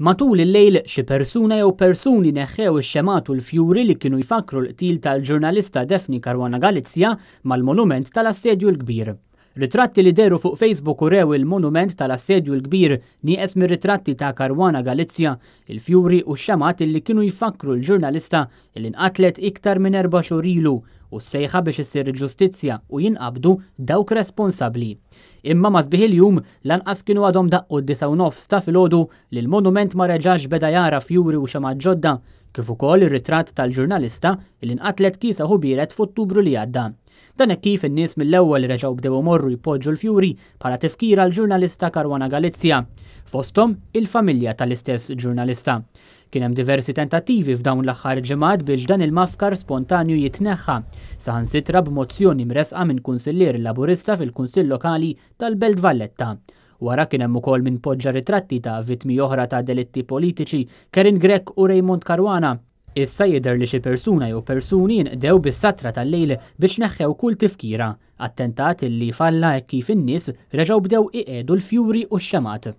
Matul il-lejl, xi persuna jew persuni neħħew ix-xemgħat u l-fjuri li kienu jfakkru l-qtil tal-ġurnalista Daphne Caruana Galizia mal-monument tal-Assedju l-Kbir. Ritratti li dehru fuq Facebook urew il-monument tal-Assedju l-Kbir nieqes mir-ritratti ta' Caruana Galizia, il-fjuri u x-xemgħat li kienu jfakkru l-ġurnalista li nqatlet iktar minn erba' xhur ilu u s-sejħa biex issir ġustizzja u jinqabdu dawk responsabbli. Imma ma' sbieħ il-jum lanqas kienu għadhom daqqu d-9:30 ta' filgħodu li l-monument ma reġax beda jara fjuri u xemgħat ġodda, kif ukoll ir-ritratt tal-ġurnalista li nqatlet kiesaħ u biered f'Ottubru li għadda. Dan hekk kif in-nies mill-ewwel reġgħu bdew imorru jpoġġu l-fjuri bħala tifkira għall-ġurnalista Caruana Galizia, fosthom il-familja tal-istess ġurnalista. Kien hemm diversi tentattivi f'dawn l-aħħar ġimgħat biex dan il-mafkar spontanju jitneħħa, saħansitra b'mozzjoni mressqa minn kunsillier Laburista fil-Kunsill Lokali tal-Belt Valletta. Wara kien hemm ukoll min poġġa ritratti ta' vittmi oħra ta' delitti politiċi, Karin Grech u Raymond Caruana. Issa jidher li xi persuna jew persuni jinqdew bis-satra tal-lejl biex neħħew kull tifkira, attentat li falla hekk kif in-nies reġgħu bdew iqiegħdu l-fjuri u x-xemgħat.